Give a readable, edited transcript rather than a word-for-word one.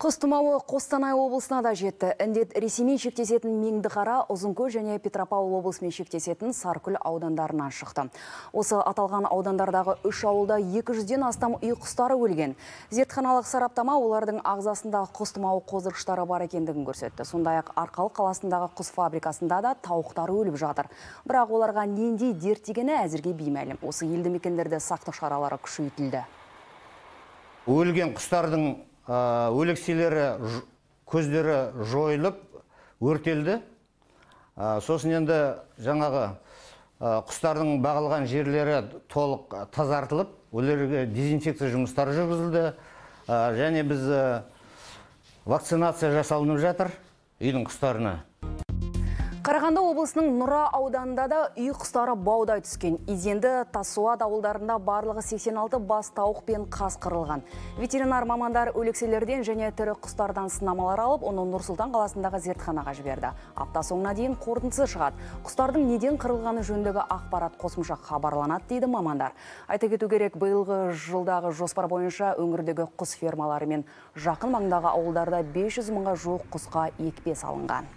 Құс тұмауы Қостанай облысына да жетті. Індет Ресеймен шектесетін Меңдіқара, Ұзынкөл және Петропавл облысымен шектесетін Саркүл аудандарынан шықты. Осы аталған аудандардағы 3 ауылда 200-ден астам үй құстары өлген. Зертханалық сараптама олардың ағзасында құс тұмауы қоздырғыштары бар екендігін көрсетті. Сондай-ақ Арқалық қаласындағы құс фабрикасында да тауықтары өліп жатыр. Бірақ оларға нендей дерт дегені әзірге беймәлім. Осы елді мекендерде сақтық шаралары күшейтілді. Өлген құстардың өлекселері, көздері жойылып, өртелді. Сосын енді жаңағы құстардың бағылған жерлері толық тазартылып, оларға дезинфекция жұмыстары жүргізілді. Және біз вакцинация жасалынып жатыр үйдің құстарына. Қарағанды облысының Нұра ауданында да үй құстары баудай түскен. Изенді, Тасуат ауылдарында барлығы 86 бас тауық пен қаз қырылған. Ветеринар мамандар өлекселерден және тірі құстардан сынамалар алып, оны Нұр-Сұлтан қаласындағы зертханаға жіберді. Апта соңына дейін қорытындысы шығады. Құстардың неден қырылғаны жөніндегі ақпарат қосымша хабарланады дейді мамандар. Айта кету керек, биылғы жылдағы жоспар бойынша өңірдегі құс фермалары мен жақын маңдағы ауылдарда 500 мыңға жуық құсқа екпе салынған.